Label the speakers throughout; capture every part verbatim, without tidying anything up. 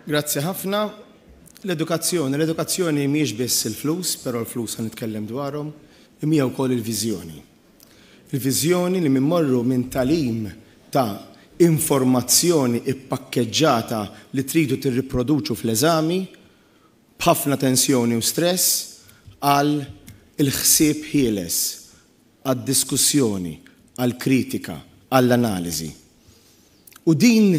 Speaker 1: Grazzi ħafna. L-edukazzjoni, l-edukazzjoni mhijiex biss il-flus, però l-flus ħa nitkellem dwarhom, imma hija wkoll il-viżjoni. Il-viżjoni li mmorru minn tagħlim ta' informazzjoni ippakkeġġata li tridu tirriproduċu fl-eżami b'ħafna tensjoni u stress għal il-ħsieb ħieles, għad-diskussjoni, għal-kritika, għall-analiżi. U din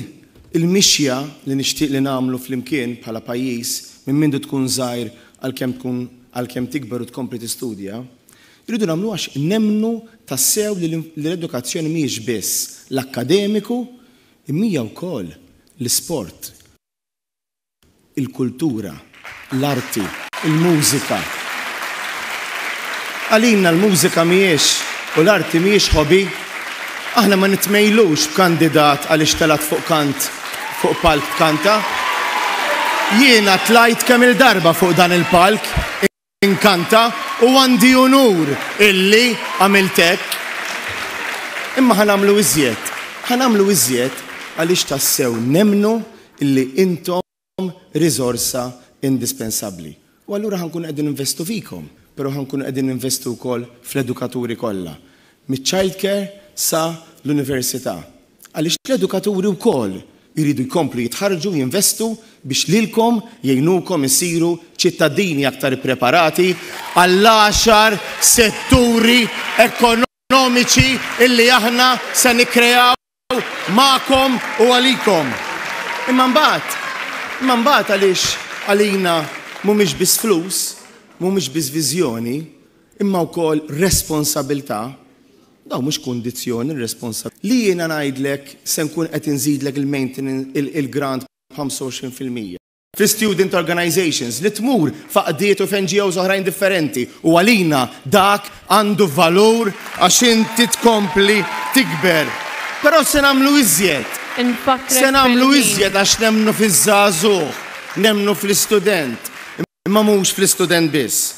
Speaker 1: il-mixja li nixtieq li nagħmlu flimkien bħala pajjiż minn mindu tkun żgħir għalkemm tkun għalkemm tikber u tkompli tistudja, irridu nagħmlu għax nemmnu tassew li l-edukazzjoni mhijiex biss l-akkademiku, imma hija wkoll l-isport, il-kultura, l-arti, il-mużika. Għalina l-mużika mhijiex u l-arti mhijiex hobby. Aħna ma nitmejlux b'kandidat għaliex telgħet fuq kant fuq palk tkanta. Jiena tlajt kemm il-darba fuq dan il-palk inkanta u għandi unur illi għamilt hekk. Imma ħa nagħmlu iżjed. Ħa nagħmlu iżjed għaliex tassew nemmnu illi intom riżorsa indispensabbli. U allura ħa nkunu qegħdin investu fikom, però ħa nkunu qegħdin investu wkoll fl-edukaturi kollha. Miċ-childcare sa l-università. Għaliex l-edukaturi wkoll jridu jkomplu jitħarġu, jinvestu biex lilkom jgħinukom isiru ċittadini aktar preparati għall-għaxar setturi ekonomiċi illi aħna se nikkreaw magħkom u għalikom. Imma mbagħad, imma mbagħad għaliex għalina mhumiex biss flus, mhumiex biss viżjoni, imma wkoll responsabilità. Daw mhux kundizzjoni responsabilità. Li jiena ngħidlek se nkun qed inżidlek il-maintenance il-grant b'ħamsa u għoxrin fil-mija. Fi student organizations li tmur f'għaqdiet u f'N G Os oħrajn differenti u għalina dak għandu valur għax inti tkompli tikber. Però se nagħmlu iżjed.
Speaker 2: Infakkrek
Speaker 1: Se nagħmlu
Speaker 2: fil-ħin.
Speaker 1: iżjed għax nemmnu fiż-żagħżugħ, nemmnu fl-istudent, imma mhux fl-istudent biss.